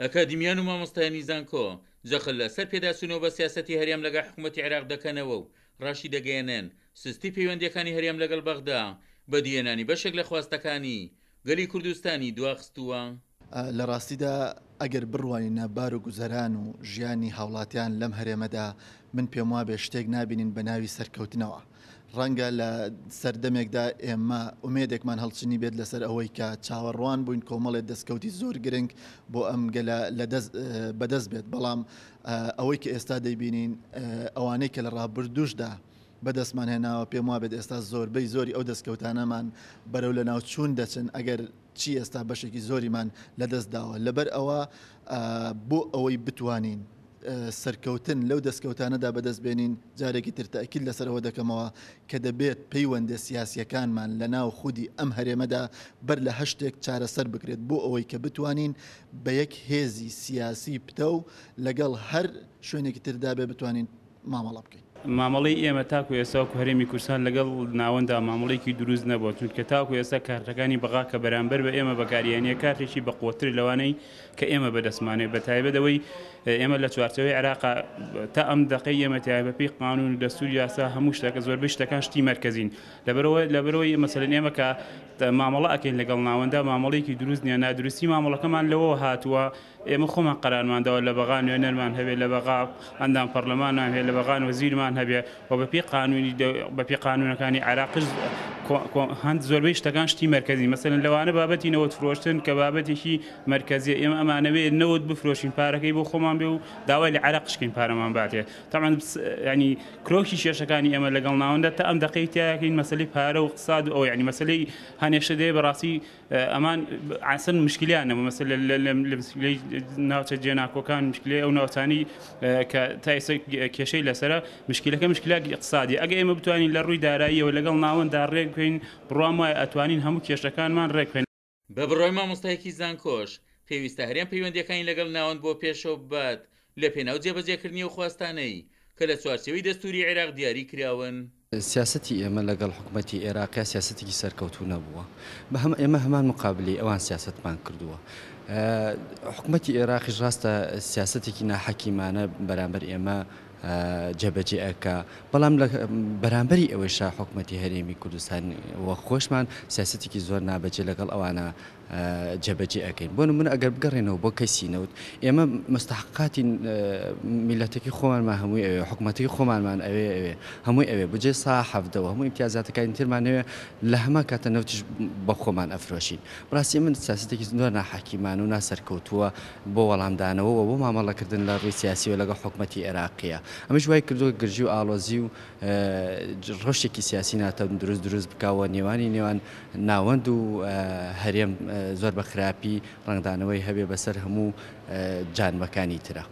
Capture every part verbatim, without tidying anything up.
ئەکادیمیان و مامۆستایانی زانکۆ جەخت لەسەر پێداچوونەوە بە سیاسەتی هەرێم لەگەڵ حکوومەتی عێراق دەکەنەوە و ڕاشی دەگەیەنن سستی پەیوەندیەکانی هەرێم لەگەڵ بەغدا بەدیهێنانی بەشێک لە خواستەکانی گەلی کوردستانی دواخستووە. لە ڕاستیدا ئەگەر بڕوانینە بار و گوزەران و ژیانی هاوڵاتیان لەم هەرێمەدا، من پێم وابێ شتێک نابینین بە ناوی سەرکەوتنەوە. ڕەنگە لە سەردەمێکدا ئێمە ئومێدێکمان هەڵچنی بێت لەسەر ئەوەی کە چاوەڕوان بووین کۆمەڵێ دەستکەوتی زۆر گرنگ بۆ ئەم گەلە بەدەست بێت، بەڵام ئەوەی کە ئێستا دەیبینین، ئەوانەی کە لە ڕابردووشدا بەدەستمان هێناوە، پێم وابێت ئێستا زۆربەی زۆری ئەو دەستکەوتانەمان بەرەو لە ناوچوون دەچن، ئەگەر چی ئێستا بەشێکی زۆریمان لەدەست داوە. لەبەر ئەوە بۆ ئەوەی بتوانین سەرکەوتن لەو دەستکەوتانەدا بەدەست بێنین، جارێکی تر تەئکید لەسەرەوە دەکەمەوە کە دەبێت پەیوەندە سیاسیەکانمان لە ناو خودی ئەم هەرێمەدا بەر لە هەشتێک چارەسەر بکرێت، بۆ ئەوەی کە بتوانین بە یەک هێزی سیاسی پتەو لەگەڵ هەر شوێنێکی تردا بێ بتوانین مامەڵە بکەین. مامەڵەی ئێمە تاکو ئێستا وەکو هەرێمی کوردستان لەگەڵ ناوەندا مامەڵەیەکی دروست نەبووە، چونکە تاکو ئێستا کارتەکانی بەغا کە بەرامبەر بە ئێمە بەکاریانە کارتێکی بەقوەتر لەوانەی کە ئێمە بەدەستمانێ، بە تایبەت ئەوەی ئێمە لە چوارچێوەی عێراق تا ئەم دقەی ئێمە تایبەت بەپێی قانون و دەستوور یاسا هەموو شتەکە زۆربەی شتەکان شتی مەرکەزین. لەبەرەوە لەبەرەوەی مەسەلەن ئێمە کە مامەڵە ئەکەین لەگەڵ ناوەندا مامەڵەیەکی دروست نییە، نادروستی مامەڵەکەمان لەوەوە هاتووە ئێمە خۆمان قەرارمانداوە لە بەغا نوێنەرمان هەبێ، لە بەغا ئەندام پەرلەمانمان هەبێ، لە بەغا وەزیرمان هەبێ و بەپێی قانونی بەپێی قانونەکانی عێراقش هەند زۆربەی شتەکان شتی مەرکەزی. مەسەلەن لەوانە بابەتی نەوت فرۆشتن کە بابەتێکی مەرکەزیە، ئێمە ئەمانەوێت نەوت بفرۆشین پارەکەی بۆ خۆمان بێ و داوای لە عێراقش کەین پارەمان باتێ. تەبعەن ینی کرۆکی کێشەکانی ئێمە لەگەڵ ناوەندە تا ئەم دقەی تیاکەین مەسەلەی پارە و اقتصاد و ئەو ینی مەسەلەی هەنێشە دێ بەڕاستی ئەمان ئاسن مشکلیان نەبوو. مەسەلە لە مشکلەی ناوچە جێناکۆکان، مشکلەی ئەو ناوچانەی کە تا ئێستا کێشەی لەسەرە، مشکلەکە مشکلاتی اقتصادی. ئەگەر ئێمە بتوانین لە ڕووی داراییەوە لەگەڵ ناوەندا ڕێک بکەین، بڕوام وایە ئەتوانین هەموو کێشەکانمان ڕێک بکەین. بە بڕوای مامۆستایەکی زانکۆش پێویستە هەرێم پەیوەندیەکانی لەگەڵ ناوەند بۆ پێشەوە ببات لە پێناو جێبەجێکردنی ئەو خواستانەی کە لە چوارچێوەی دەستووری عێراق دیاری کراون. سیاسەتی ئێمە لەگەڵ حکوومەتی عێراقیا سیاسەتێکی سەرکەوتوو نەبووە. بەهەم ئێمە هەمان مقابلی ئەوان سیاسەتمان کردووە. حکوومەتی عێراقیش ڕاستە سیاسەتێکی ناحەکیمانە بەرامبەر ئێمە جێبەجێ ئەکا، بەڵام لە بەرامبەری ئەوەیشا حکوومەتی هەرێمی کوردستان وە خۆشمان سیاسەتێکی زۆر نابەجێ لەگەڵ ئەوانە جێبەجێ ئەەکەین. بۆ نمونە ئەگەر بگەڕێنەوە بۆ کەسی نەوت، ئێمە مستحقاتی میلەتەکەی خۆمانمان هەمووی ئەوێ، حکوومەتەکەی خۆمانمان ئەوێ ئەوێ هەمووی ئەوێ، بجێ سا حەفدەوە هەموو ئیمتیازاتەکانی ترمان ئەوێ، لە هەمان کاتە نەوتیش بە خۆمان ئەفرۆشین. بەڕاستی من سیاسەتێکی زۆر ناحەکیمان و ناسەرکەوتووە بۆ وەڵامدانەوە و بۆ مامەڵەکردن لە ڕووی سیاسیەوە لەگەڵ حکوومەتی عێراقیە. ئەمەش وای کردووە گرژی و ئاڵۆزی و ڕەوشێکی سیاسی ناتەندروست دروست بکاوە نێوانی نێوان ناوەند و هەرێم زۆر بە خراپی ڕەنگدانەوەی هەبێ بەسەر هەموو جانبەکانی ترە.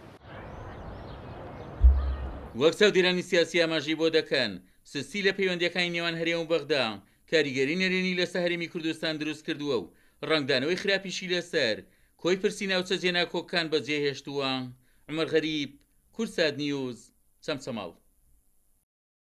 وەک چاودێرانی سیاسی ئاماژەی بۆ دەکەن، سستی لە پەیوەندیەکانی نێوان هەرێم و بەغدا کاریگەری نەرێنی لەسەر هەرێمی کوردستان دروست کردووە و ڕەنگدانەوەی خراپیشی لەسەر کۆی پرسی ناوچە جێناکۆکان بەجێهێشتووە. عومەر غەریب، کوردسات نیوز، چەمچەماڵ.